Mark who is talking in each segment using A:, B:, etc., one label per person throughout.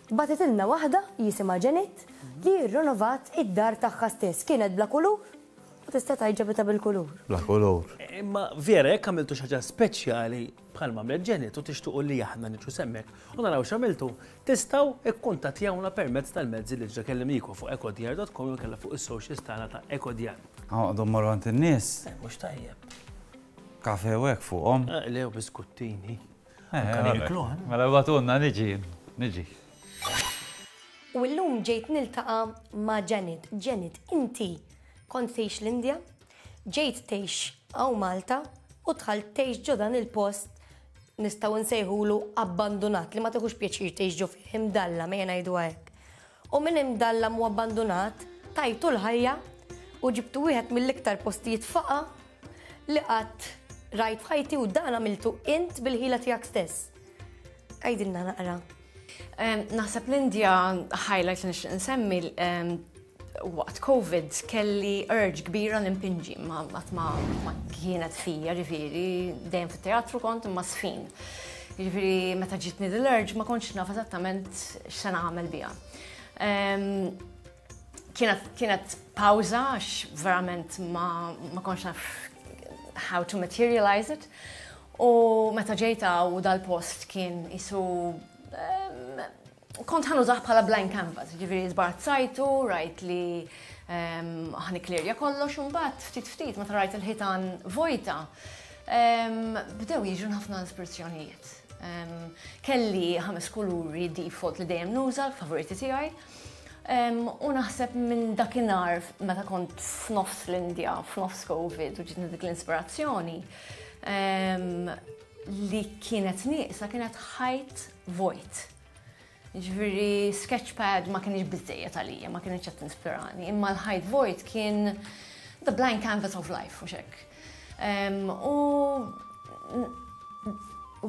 A: Bagħtitilna waħda jisimha Janet li rrinovat id-dar tagħha stess. Kienet bla kulur u tista' tgħid ġabitha bil-kulur.
B: Bla kulur.
C: Imma vera jekk għamiltu xi ħaġa speċjali bħalma għamlet Janet u tixtuqu li aħna niġu s'hemmhekk u naraw x'għamiltu, tistgħu ikkuntattjawna permezz tal-mezzi li ġa kellimnikom fuq ekodjar.com jew inkella fuq is-socials tagħna ta' Ekodjar.
B: Noqogħdu mmorru għand in-nies.
C: Eh, mhux tajjeb.
B: Kafe u hekk fuqhom.
C: Eh, le, u biskuttini.
B: Eh, mela batunna niġi, niġi.
A: U llum ġejt niltaqa' ma' Janet. Janet, inti kont tgħix l-Indja, ġejt tgħix hawn Malta u dħalt tgħix ġo dan il-post nistgħu nsejħulu abbandunat li ma tieħux pjaċir tgħix ġo fih imdallam ejja ngħiduha hekk. U minn imdallam u abbandunat tajtu l-ħajja u ġibtu wieħed mill-iktar postijiet faqa' li qatt rajt f'ħajti u dan għamiltu int bil-ħila tiegħek stess. Għidilna naqra.
D: Naħseb l-Indja highlight li nixtieq nsemmi waqt COVID kelli urge kbira li npinġi ma qatt ma kienet fija ġifieri dejjem fit-teatru kont imma sfin. Ġifieri meta ġitni dil-urge ma kontx naf eżattament x'se nagħmel biha. Kienet, kienet pawża għax verament ma, ma kontx naf how to materialize it. U meta ġejta u dal-post kien isu kont ħanużah bħala blank canvas, ġifieri żbarazzajtu, rajt li ħaniklirja kollox u mbagħad ftit ftit meta rajt il-ħitan vojta, bdew jiġu ħafna ispirazzjonijiet. Kelli ħames kuluri default li dejjem nuża, l-favoriti tiegħi. U naħseb minn dakinhar meta kont f'nofs l-Indja, f'nofs Covid u ġitni dik l-inspirazzjoni li kienet nieqsa kienet ħajt vojt. Ġifieri sketchpad ma kienx biżejjed għalija, ma kienx qed tinspirani, imma l-ħajt vojt kien the blank canvas of life, u hekk. U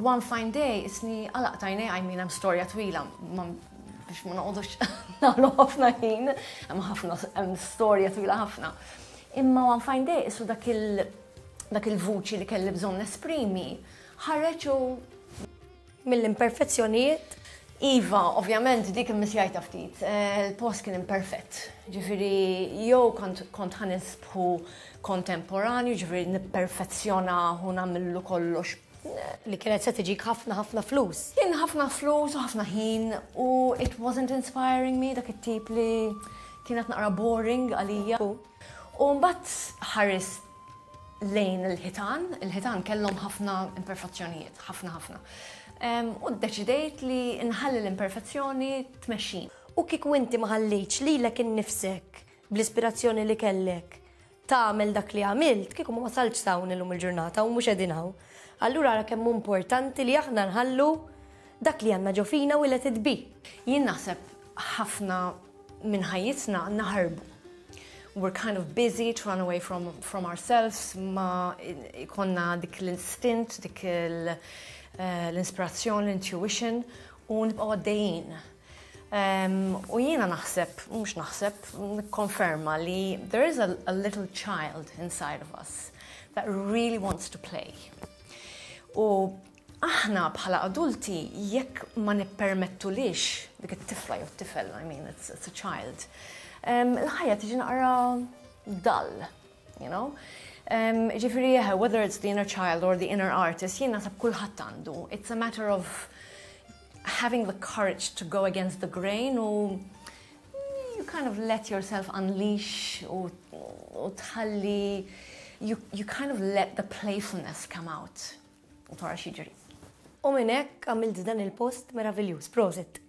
D: one fine day isni għalaqt għajnej, I mean, hemm storja twila, biex ma noqogħdux nagħmlu ħafna ħin, hemm ħafna hemm storja twila ħafna. Imma one fine day isu dak il dak il-vuċi li kelli bżonn nesprimi ħareġ u
A: mill-imperfezzjonijiet.
D: Iva, ovvjament dik immissjajta ftit. Eh, il-post kien imperfett. Ġifieri jew kont kont ħanisbħu kontemporanju, ġifieri nipperfezzjona u nagħmillu kollox
A: Li kienet se tiġik ħafna ħafna flus.
D: Kien ħafna flus u ħafna ħin u it wasn't inspiring me dak it-tip li kienet naqra boring għalija. U mbagħad ħares lejn il-ħitan, il-ħitan kellhom ħafna imperfezzjonijiet, ħafna ħafna. U ddeċidejt li nħalli l-imperfezzjoni tmexxin.
A: U kieku inti ma ħallejtx lilek innifsek bl-ispirazzjoni li kellek tagħmel dak li għamilt, kieku ma wasaltx s'hawn illum il-ġurnata u mhux qegħdin hawn. Allura ara kemm hu importanti li aħna nħallu dak li għandna ġo fina u let it be.
D: Jien naħseb ħafna minn ħajjitna naħarbu. We're kind of busy to run away from, from ourselves, ma ikonna dik l-instint, dik eh, l-inspirazzjoni, l-intuition, u nibqgħu għaddejjin. U jiena naħseb, mhux naħseb, nikkonferma li there is a, a little child inside of us that really wants to play. U aħna bħala adulti jekk ma nippermettulix dik it-tifla jew t-tifel, I mean, it's, it's a child, il-ħajja tiġi naqra dull, you know? Ġifieri, whether it's the inner child or the inner artist, jien naħseb kulħadd għandu. It's a matter of having the courage to go against the grain u you kind of let yourself unleash u, u tħalli you, you kind of let the playfulness come out u tara x'jiġri.
A: U minn hekk għamilt dan il-post meraviljuż. Prosit.